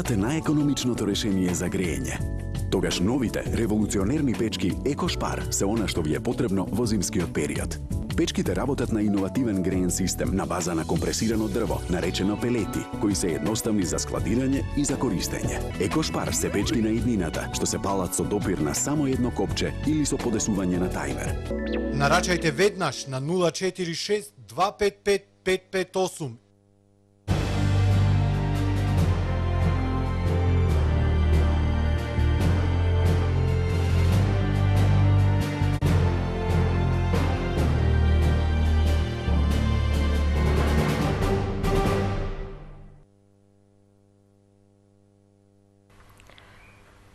Газът е најекономичното решение за грејење. Тогаш новите револуционерни печки Екошпар се она што ви е потребно во зимскиот период. Печките работат на иновативен греен систем на база на компресирано дрво, наречено пелети, кои се едноставни за складирање и за користење. Екошпар се печки на иднината, што се палат со допир на само едно копче или со подесување на тајмер. Нарачајте веднаш на 046 255 558.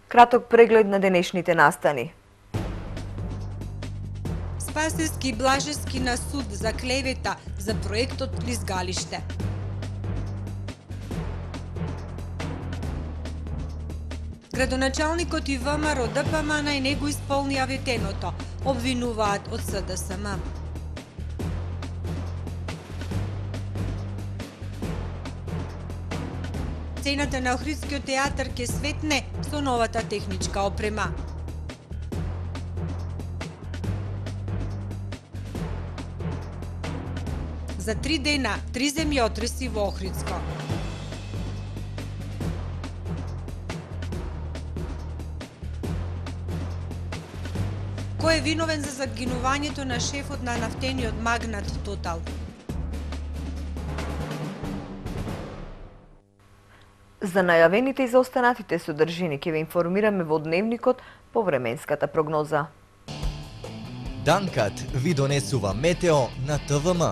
Краток преглед на денешните настани. Спасевски Блажевски на суд за клевета за проектот Лизгалиште. Градоначалникот и ВМРО ДПМН и него исполни аветеното, обвинуваат од СДСМ. Цената на Охридскиот театар ке светне со новата техничка опрема. За 3 дена, 3 земјотреси во Охридско. Кој е виновен за загинувањето на шефот на нафтениот магнат Тотал? За најавените и за останатите содржини ќе ве информираме во дневникот по временската прогноза. Данкат ви донесува метео на ТВМ.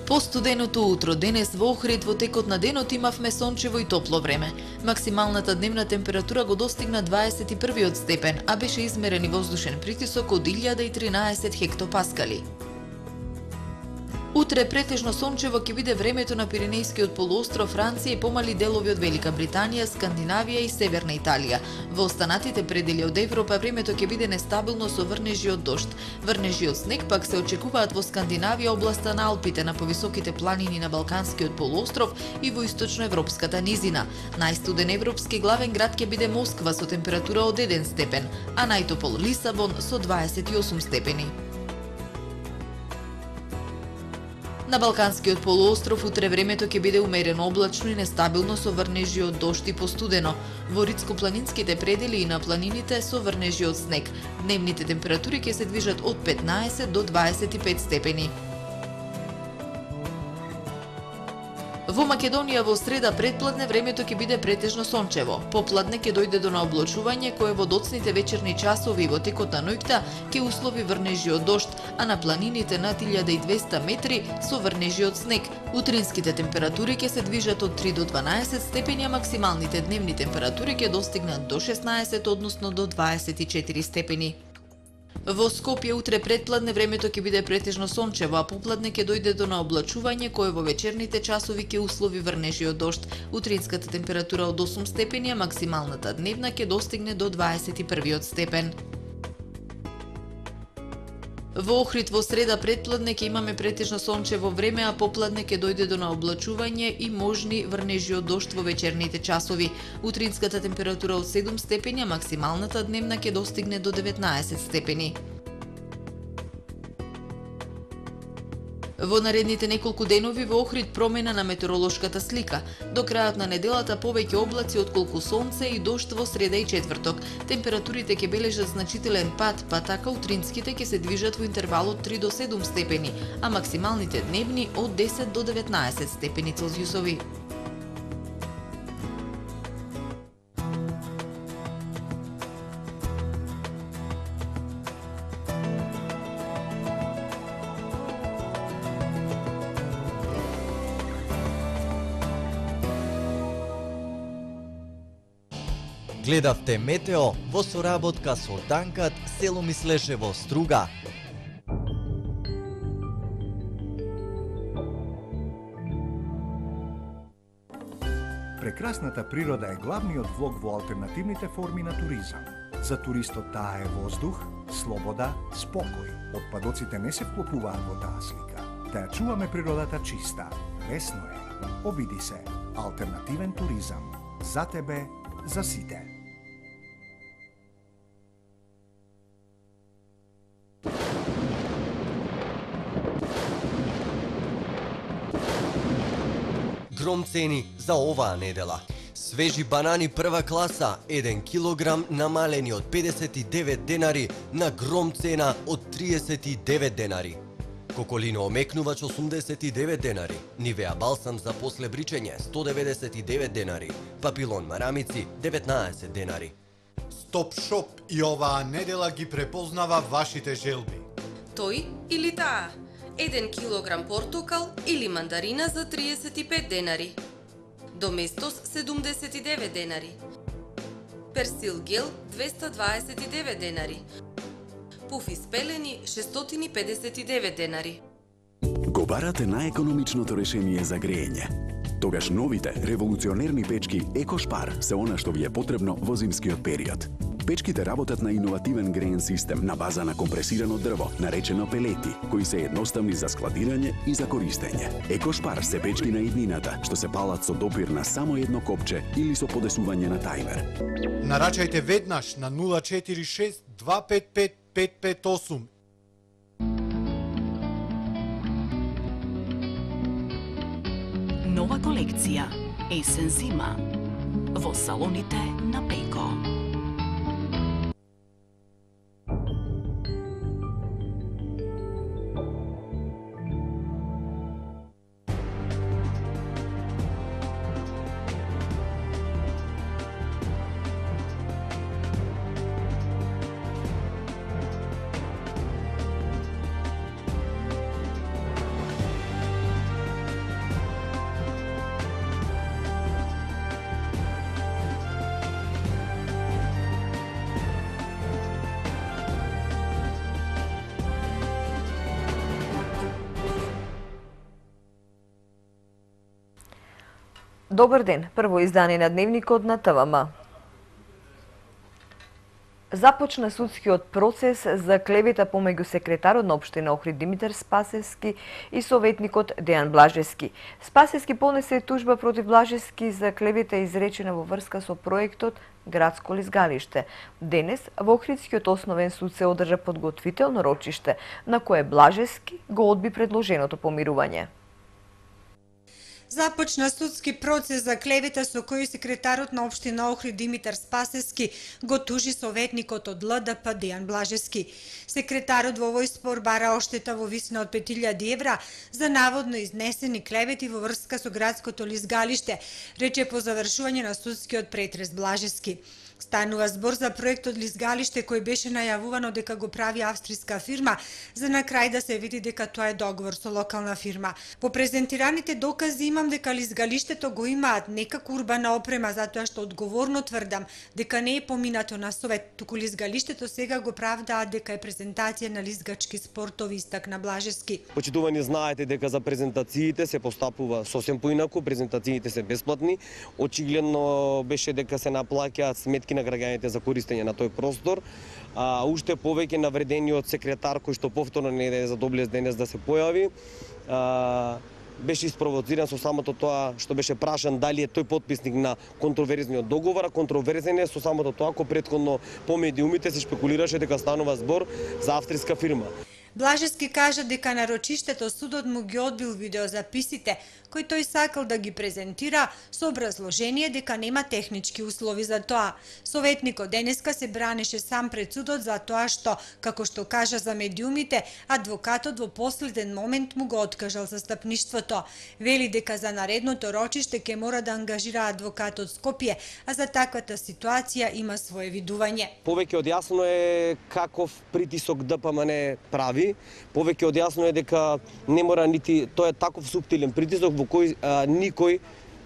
Постуденото утро денес во Охрид во текот на денот имавме сончево и топло време. Максималната дневна температура го достигна 21 степен, а беше измерен и воздушен притисок од 1013 хектопаскали. Утре претежно сончево ќе биде времето на Пиренејскиот полуостров, Франција и помали делови од Велика Британија, Скандинавија и Северна Италија. Во останатите предели од Европа времето ќе биде нестабилно со врнежи од дожд. Врнежи од снег пак се очекуваат во Скандинавија, областа на Алпите, на повисоките планини на Балканскиот полуостров и во источноевропската низина. Најстуден европски главен град ќе биде Москва со температура од 1 степен, а најтопол Лисабон со 28 степени. На Балканскиот полуостров утре времето ќе биде умерено облачно и нестабилно со врнежи од дожд и постудено. Во ридско-планинските предели и на планините со врнежи од снег. Дневните температури ќе се движат од 15 до 25 степени. Во Македонија во среда предпладне времето ќе биде претежно сончево. Попладне ќе дојде до наоблачување кое во доцните вечерни часови и во текот на ноќта ќе услови врнежи од дожд, а на планините над 1200 метри со врнежи од снег. Утринските температури ќе се движат од 3 до 12 степени, а максималните дневни температури ќе достигнат до 16, односно до 24 степени. Во Скопје утре предпладне времето ќе биде претежно сончево, а попладне ќе дојде до наоблачување кое во вечерните часови ќе услови врнежи од дожд. Утринската температура од 8 степени, а максималната дневна ќе достигне до 21 степен. Во Охрид во среда предпладне ќе имаме претежно сончево време, а попладне ќе дојде до наоблачување и можни врнежи од дожд во вечерните часови. Утринската температура од 7 степени, а максималната дневна ќе достигне до 19 степени. Во наредните неколку денови во Охрид промена на метеоролошката слика. До крајот на неделата повеќе облаци отколку сонце и дожд во среда и четврток. Температурите ќе бележат значителен пад, па така утринските ќе се движат во интервал од 3 до 7 степени, а максималните дневни од 10 до 19 степени Целзиусови. Гледавте метео во соработка со Данкат, село Мислешево, Струга. Прекрасната природа е главниот влог во алтернативните форми на туризам. За туристот таа е воздух, слобода, спокој. Отпадоците не се вклопуваат во таа слика. Да ја чуваме природата чиста. Лесно е. Обиди се. Алтернативен туризам. За тебе, за сите. Гром цени за оваа недела. Свежи банани прва класа, 1 килограм намалени од 59 денари на гром цена од 39 денари. Коколино омекнувач 89 денари, Нивеа балсам за после бричење 199 денари, Папилон марамици 19 денари. Стоп Шоп и оваа недела ги препознава вашите желби. Тој или таа? 1 килограм портокал или мандарина за 35 денари. Доместос 79 денари. Персил гел 229 денари. Пуфи спелени 659 денари. Го барате најекономичното решение за грејење. Тогаш новите револуционерни печки Екошпар се она што ви е потребно во зимскиот период. Печките работат на иновативен греен систем на база на компресирано дрво, наречено пелети, кои се едноставни за складирање и за користење. Екошпар се печки на иднината, што се палат со допир на само едно копче или со подесување на тајмер. Нарачајте веднаш на 046 255 558. Нова колекција есен-зима во салоните на Пеко. Добар ден, прво издание на Дневникот на ТВМ. Започна судскиот процес за клевета помеѓу секретарот на општина Охрид Димитар Спасевски и советникот Дејан Блажевски. Спасевски понесе тужба против Блажевски за клевета изречена во врска со проектот Градско лизгалиште. Денес во Охридскиот основен суд се одржа подготвително рочиште, на кое Блажевски го одби предложеното помирување. Започна судски процес за клевета со кој секретарот на општина Охрид Димитар Спасевски го тужи советникот од ЛДП Дејан Блажевски. Секретарот во овој спор бара оштета во висина од 5000 евра за наводно изнесени клевети во врска со градското лизгалиште, рече по завршување на судскиот претрес Блажевски. Станува збор за проектот лизгалиште кој беше најавувано дека го прави австријска фирма, за на крај да се види дека тоа е договор со локална фирма. По презентираните докази имам дека лизгалиштето го имаат некако урбана опрема, затоа што одговорно тврдам дека не е поминато на совет, туку лизгалиштето сега го правдаат дека е презентација на лизгачки спортови, истакна Блажевски. Почитувани, знаете дека за презентациите се постапува сосем поинаку, презентациите се бесплатни. Очигледно беше дека се наплаќаат сметки на граѓаните за користење на тој простор. Уште повеќе навредениот секретар кој што повторно не е задоблес денес да се појави, беше испровоциран со самото тоа што беше прашан дали е тој потписник на контроверзниот договор, а контроверзен е со самото тоа кој претходно по медиумите се шпекулираше дека станува збор за австријска фирма. Блажевски кажа дека на рочиштето судот му ги одбил видеозаписите, кои тој сакал да ги презентира со образложение дека нема технички услови за тоа. Советникот денеска се бранеше сам пред судот за тоа што, како што кажа за медиумите, адвокатот во последен момент му го откажал застапништвото. Вели дека за наредното рочиште ќе мора да ангажира адвокат од Скопје, а за таквата ситуација има свое видување. Повеќе од јасно е каков притисок ДПМН прави, повеќе од јасно е дека не мора нити, тоа е таков суптилен притисок во кој никој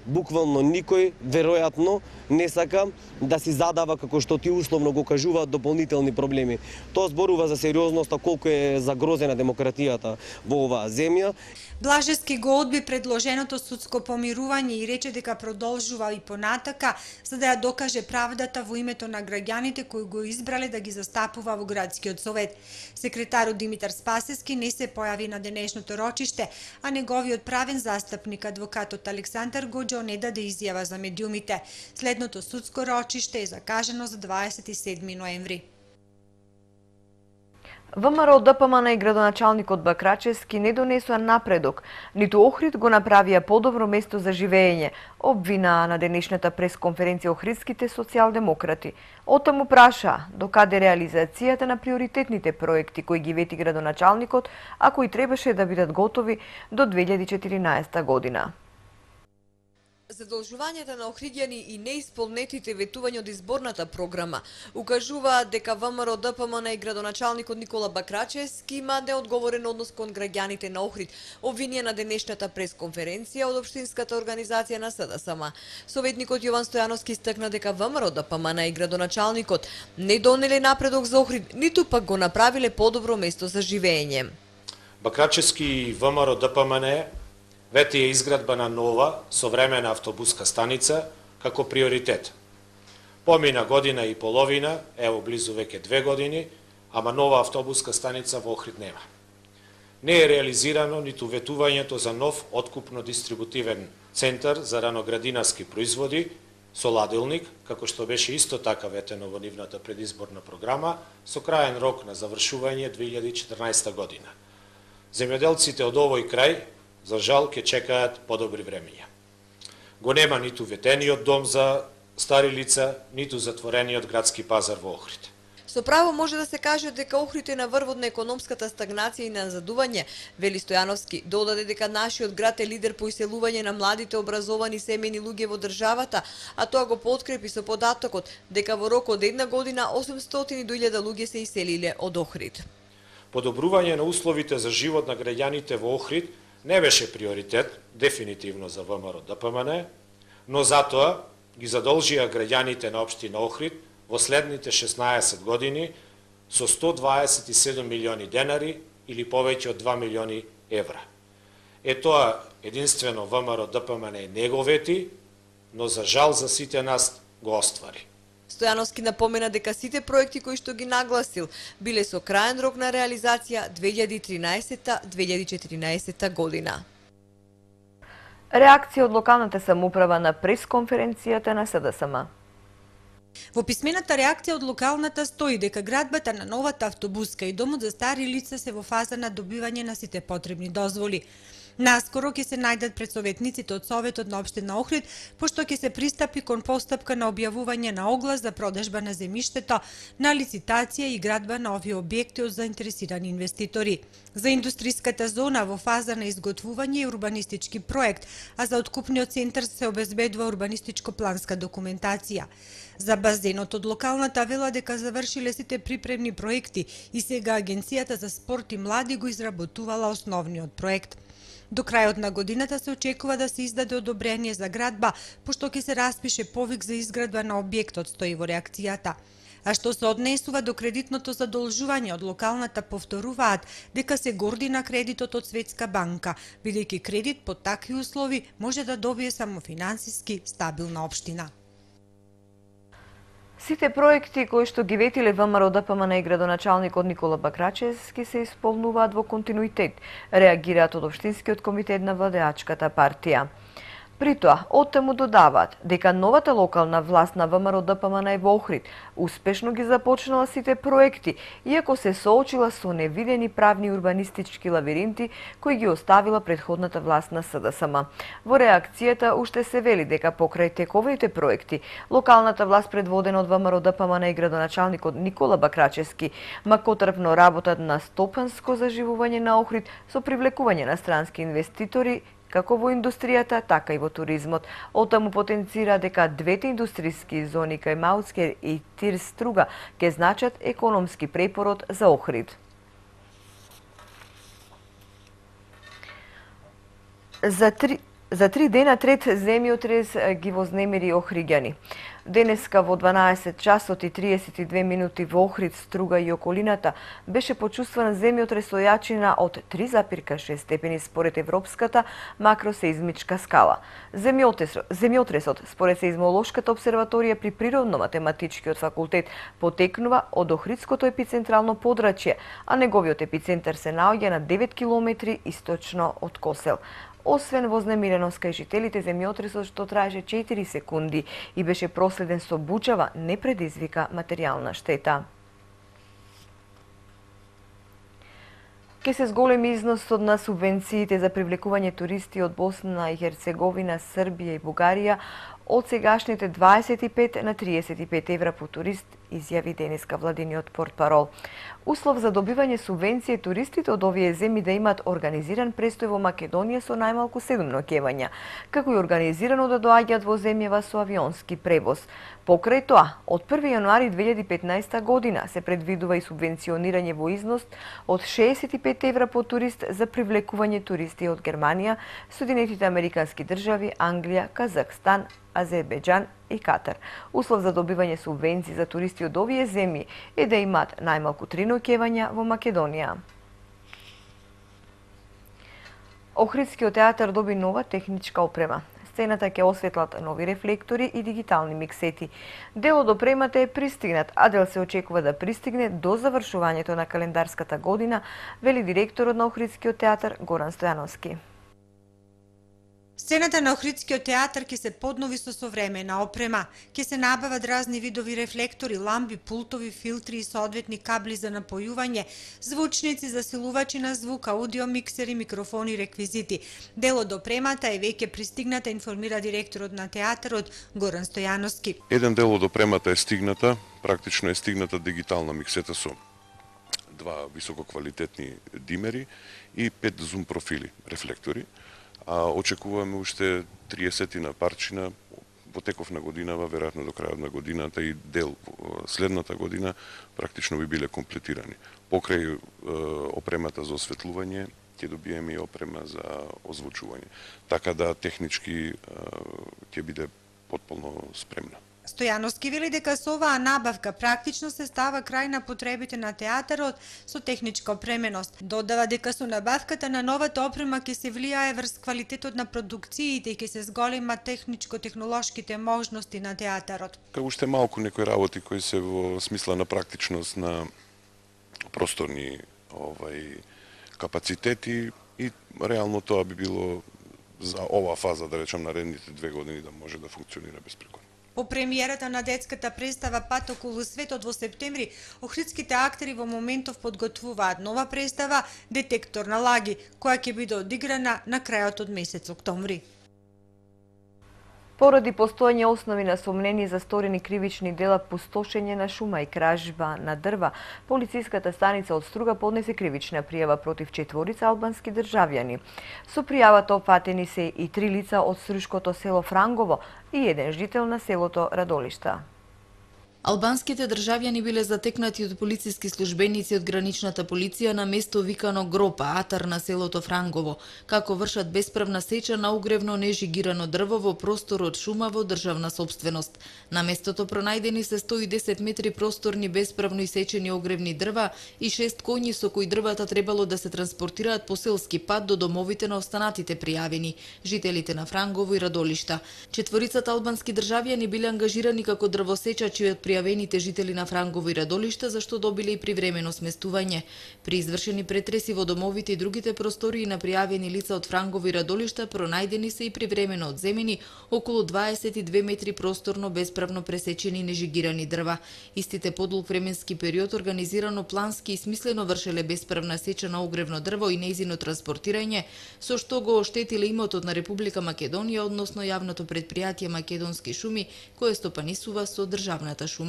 буквално никој веројатно не сака да си задава, како што ти условно го кажуваат, дополнителни проблеми. Тоа зборува за сериозноста колку е загрозена демократијата во оваа земја. Блажевски го одби предложеното судско помирување и рече дека продолжува и понатака за да ја докаже правдата во името на граѓаните кои го избрале да ги застапува во градскиот совет. Секретарот Димитар Спасевски не се појави на денешното рочиште, а неговиот правен застапник адвокатот Александар Гоџо не даде изјава за медиумите. Следното судско рочиште е закажано за 27 ноември. ВМРО ДПМН и градоначалникот Бакрачевски не донесоа напредок, ниту Охрид го направија подобро место за живење, обвинаа на денешната пресконференција охридските социјалдемократи. Оттаму праша докаде реализацијата на приоритетните проекти кои ги вети градоначалникот, а кои требаше да бидат готови до 2014 година. Задолжувањата на охриѓани и неисполнетите ветувања од изборната програма укажуваат дека ВМРО ДПМН и градоначалникот Никола Бакрачевски има неодговорен однос кон граѓаните на Охрид, обвинија на денешната пресконференција од општинската организација на СДСМ. Советникот Јован Стојановски истакна дека ВМРО ДПМН и градоначалникот не донеле напредок за Охрид, ниту пак го направиле подобро место за живење. Бакрачевски и ВМРО ДПМН вети е изградба на нова, современа автобуска станица како приоритет. Помина година и половина, ево близу веќе 2 години, ама нова автобуска станица во Охрид нема. Не е реализирано ниту ветувањето за нов откупно-дистрибутивен центар за раноградинарски производи со ладилник, како што беше исто така ветено во нивната предизборна програма, со краен рок на завршување 2014 година. Земјоделците од овој крај за жал ќе чекаат подобри времења. Го нема ниту ветениот дом за стари лица, ниту затворениот градски пазар во Охрид. Со право може да се каже дека Охрид е на врвот на економската стагнација и на назадување, вели Стојановски. Додаде дека нашиот град е лидер по иселување на младите образовани семејни луѓе во државата, а тоа го подкрепи со податокот дека во рок од една година 800.000 луѓе се иселиле од Охрид. Подобрување на условите за живот на граѓаните во Охрид не беше приоритет, дефинитивно за ВМРО ДПМН, но затоа ги задолжија граѓаните на општина Охрид во следните 16 години со 127 милиони денари или повеќе од 2 милиони евра. Тоа единствено ВМРО ДПМН не го вети, но за жал за сите нас го оствари. Стојановски напомена дека сите проекти кои што ги нагласил биле со краен рок на реализација 2013-2014 година. Реакција од локалната самоуправа на пресконференцијата на СДСМ. Во писмената реакција од локалната стои дека градбата на новата автобуска и домот за стари лица се во фаза на добивање на сите потребни дозволи. Наскоро ќе се најдат пред советниците од Советот на општина Охрид, пошто ќе се пристапи кон постапка на објавување на оглас за продажба на земјиштето, на лицитација и градба на овие објекти од заинтересирани инвеститори. За индустриската зона во фаза на изготвување е урбанистички проект, а за откупниот центар се обезбедува урбанистичко-планска документација. За базенот од локалната вела дека завршиле сите припремни проекти и сега Агенцијата за спорт и млади го изработувала основниот проект. До крајот на годината се очекува да се издаде одобрение за градба, пошто ќе се распише повик за изградба на објектот, стои во реакцијата. А што се однесува до кредитното задолжување од локалната, повторуваат дека се горди на кредитот од Светска банка, бидејќи кредит под такви услови може да добие само финансиски стабилна општина. Сите проекти кои што ги ветиле ВМРО ДПМН и градоначалникот Никола Бакрачевски се исполнуваат во континуитет, реагираат од општинскиот комитет на владеачката партија. При тоа, оттаму додаваат дека новата локална власт на ВМРО ДПМН е во Охрид успешно ги започнала сите проекти, иако се соочила со невидени правни урбанистички лавиринти кои ги оставила претходната власт на СДСМ. Во реакцијата уште се вели дека покрај тековите проекти, локалната власт предводена од ВМРО ДПМН и градоначалникот Никола Бакрачевски макотрпно работат на стопанско заживување на Охрид со привлекување на странски инвеститори како во индустријата, така и во туризмот. Оттаму потенцира дека двете индустријски зони кај Маускер и Тир Струга ќе значат економски препород за Охрид. За 3 дена трет земјотрес ги вознемири Охриѓани. Денеска во 12 часот и 32 минути во Охрид, Струга и околината беше почувстван земјотрес со јачина од 3,6 степени според Европската макросеизмичка скала. Земјотресот според Сеизмолошката обсерваторија при Природно-математичкиот факултет потекнува од Охридското епицентрално подрачје, а неговиот епицентар се наоѓа на 9 километри источно од Косел. Освен вознемиреност кај жителите, земјотресот што траеше 4 секунди и беше проследен со бучава, не предизвика материјална штета. Ке се зголеми износот на субвенциите за привлекување туристи од Босна и Херцеговина, Србија и Бугарија од сегашните 25 на 35 евра по турист, изјави денеска владиниот портпарол. Услов за добивање субвенција туристите од овие земји да имаат организиран престој во Македонија со најмалку 7 ноќевања, како и организирано да доаѓаат во земјава со авионски превоз. Покрај тоа, од 1 јануари 2015 година се предвидува и субвенционирање во износ од 65 евра по турист за привлекување туристи од Германија, Соединетите Американски држави, Англија, Казахстан, Азербејџан и Катар. Услов за добивање субвенции за туристи од овие земји е да имаат најмалку 3 ноќевања во Македонија. Охридскиот театар доби нова техничка опрема. Сцената ќе осветлат нови рефлектори и дигитални миксети. Дел од опремата е пристигнат, а дел се очекува да пристигне до завршувањето на календарската година, вели директорот на Охридскиот театар Горан Стојановски. Сцената на Охридскиот театар ќе се поднови со современа опрема. Ќе се набават разни видови рефлектори, ламби, пултови, филтри и соодветни кабли за напојување, звучници, засилувачи на звук, аудио миксери, микрофони и реквизити. Дел од опремата е веќе пристигната, информира директорот на театарот Горан Стојановски. Еден дел од опремата е стигната, практично е стигната дигитална миксета со 2 висококвалитетни димери и 5 зум профили рефлектори. Очекуваме уште 30 парчина во теков на годинава, веројатно до крајот на годината и дел следната година практично би биле комплетирани. Покрај опремата за осветлување ќе добиеме и опрема за озвучување. Така да технички ќе биде потполно спремна. Стојановски вели дека со оваа набавка практично се става крај на потребите на театарот со техничка опременост. Додава дека со набавката на новата опрема ќе се влијае врз квалитетот на продукциите и ќе се зголема техничко-технолошките можности на театарот. Уште малку некои работи кои се во смисла на практичност на просторни капацитети и реално тоа би било за оваа фаза, да речем, наредните 2 години да може да функционира безпрекорно. По премиерата на детската представа Пат околу светот во септември, охридските актери во моментов подготвуваат нова представа Детектор на лаги, која ќе биде одиграна на крајот од месец октомври. Поради постојање основи на сомнение за сторени кривични дела, пустошење на шума и кражба на дрва, полициската станица од Струга поднесе кривична пријава против 4 албански државјани. Со пријавата опфатени се и 3 лица од струшкото село Франгово и еден жител на селото Радолишта. Албанските државјани биле затекнати од полициски службеници од граничната полиција на место викано Гропа, Атар на селото Франгово, како вршат бесправна сеча на угревно нежигирано дрво во простор од шума во државна сопственост. На местото пронајдени се 110 метри просторни бесправно исечени огревни дрва и 6 коњи со кои дрвата требало да се транспортираат по селски пат до домовите на останатите пријавени, жителите на Франгово и Радолишта. 4 албански државјани биле ангажирани како дрвосечачи од пријавените жители на Франгово и Радолишта, зашто добиле и привремено сместување. При извршени претреси во домовите и другите простории на пријавени лица од Франгово и Радолишта пронајдени се и привремено одземени околу 22 метри просторно бесправно пресечени нежигирани дрва. Истите подлог временски период организирано плански и смислено вршеле бесправна сеча на огревно дрво и нејзино транспортирање, со што го оштетиле имотот на Република Македонија, односно јавното претпријатие Македонски шуми, кое стопанисува со државната шума.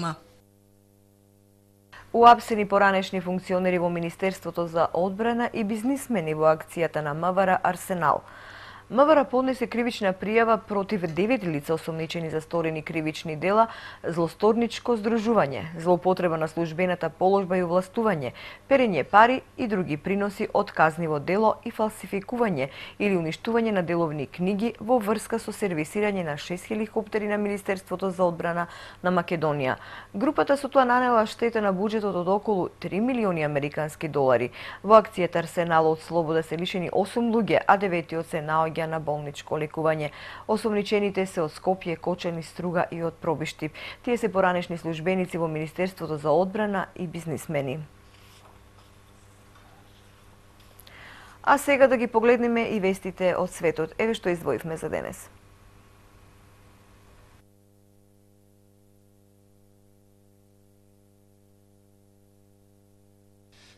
Уапсени поранешни функционери во Министерството за одбрана и бизнисмени во акцијата на МВР Арсенал. МВР поднесе кривична пријава против 9 лица осомничени за сторени кривични дела, злосторничко здружување, злоупотреба на службената положба и овластување, перење пари и други приноси од казниво дело и фалсификување или уништување на деловни книги во врска со сервисирање на 6 хеликоптери на Министерството за одбрана на Македонија. Групата со тоа нанела штета на буџетот од околу 3 милиони американски долари. Во акцијата Арсенал од слобода се лишени 8 луѓе, а 9 се наоѓа на болничко лекување. Осомничените се од Скопје, Кочани, Струга и од Пробиштип. Тие се поранешни службеници во Министерството за одбрана и бизнисмени. А сега да ги погледнеме и вестите од светот. Еве што издвоивме за денес.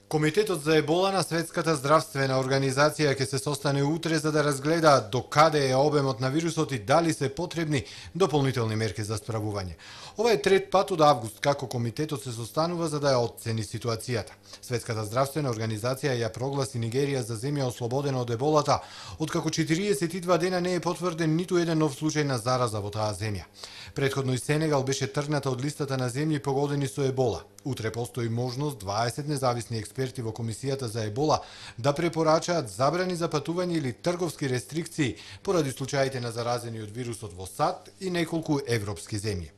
Комитетот за ебола на Светската здравствена организација ќе се состане утре за да разгледа до каде е обемот на вирусот и дали се потребни дополнителни мерки за справување. Ова е трет пат од август како комитетот се состанува за да ја оцени ситуацијата. Светската здравствена организација ја прогласи Нигерија за земја ослободена од еболата, откако 42 дена не е потврден ниту еден нов случај на зараза во таа земја. Предходно и Сенегал беше тргната од листата на земји погодени со ебола. Утре постои можност 20 независни експерти во Комисијата за ебола да препорачаат забрани за патување или трговски рестрикции поради случаите на заразени од вирусот во САД и неколку европски земји.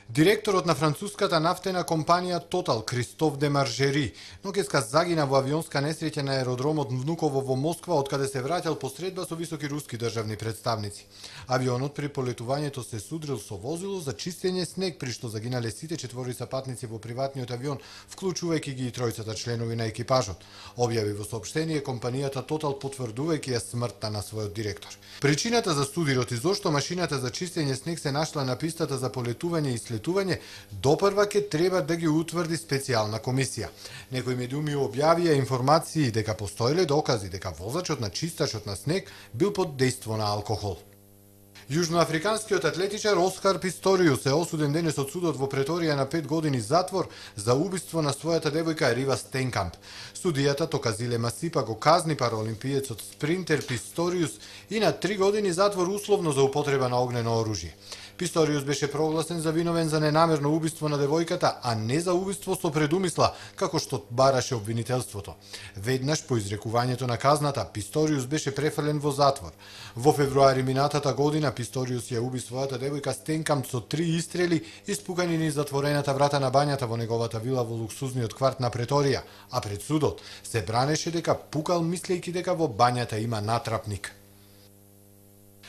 Директорот на француската нафтена компанија Total, Кристоф де Маржери, ноќеска загина во авионска несреќа на аеродромот Внуково во Москва, откаде се враќал по средба со високи руски државни представници. Авионот при полетувањето се судрил со возило за чистење снег, при што загинале сите четворица патници во приватниот авион, вклучувајќи ги и тројцата членови на екипажот. Објави во соопштение компанијата Total потврдувајќи ја смртта на својот директор. Причината за судирот и зошто машината за чистење снег се нашла на пистата за полетување и слетување, допрва ќе треба да ги утврди специјална комисија. Некои медиуми објавија информации дека постоеле докази дека возачот на чистачот на снег бил под дејство на алкохол. Јужноафриканскиот атлетичар Оскар Писториус е осуден денес од судот во Преторија на 5 години затвор за убиство на својата девојка Рива Стенкамп. Судијата Токазиле Масипа го казни параолимпиецот спринтер Писториус и на 3 години затвор условно за употреба на огнено оружје. Писториус беше прогласен за виновен за ненамерно убиство на девојката, а не за убиство со предумисла, како што бараше обвинителството. Веднаш по изрекувањето на казната, Писториус беше префрлен во затвор. Во февруари минатата година Писториус ја уби својата девојка Стенкамп со 3 истрели испукани низ затворената врата на бањата во неговата вила во луксузниот кварт на Преторија, а пред судот се бранеше дека пукал мислејќи дека во бањата има натрапник.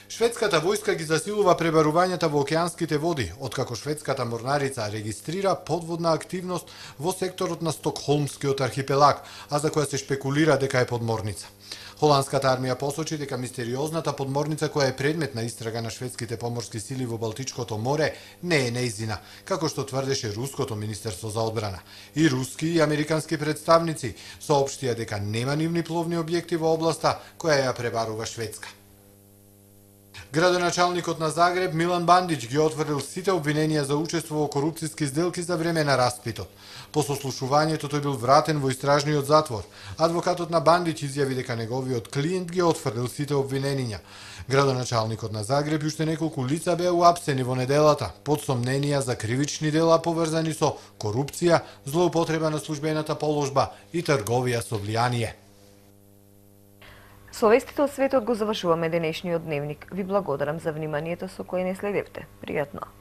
Шведската војска ги засилува пребарувањата во океанските води, откако шведската морнарица регистрира подводна активност во секторот на Стокхолмскиот архипелаг, а за која се шпекулира дека е подморница. Холандската армија посочи дека мистериозната подморница која е предмет на истрага на шведските поморски сили во Балтичкото море не е нејзина, како што тврдеше руското министерство за одбрана. И руски и американски представници соопштија дека нема нивни пловни објекти во областа која ја пребарува Шведска. Градоначалникот на Загреб Милан Бандич ги отврдил сите обвиненија за учество во корупциски сделки за време на распитот. По сослушувањето тој бил вратен во истражниот затвор. Адвокатот на Бандич изјави дека неговиот клиент ги отврдил сите обвиненија. Градоначалникот на Загреб и уште неколку лица беа уапсени во неделата под сомненија за кривични дела поврзани со корупција, злоупотреба на службената положба и трговија со влијание. Со вестите од светот го завршуваме денешниот дневник. Ви благодарам за вниманието со кое не следевте. Пријатно!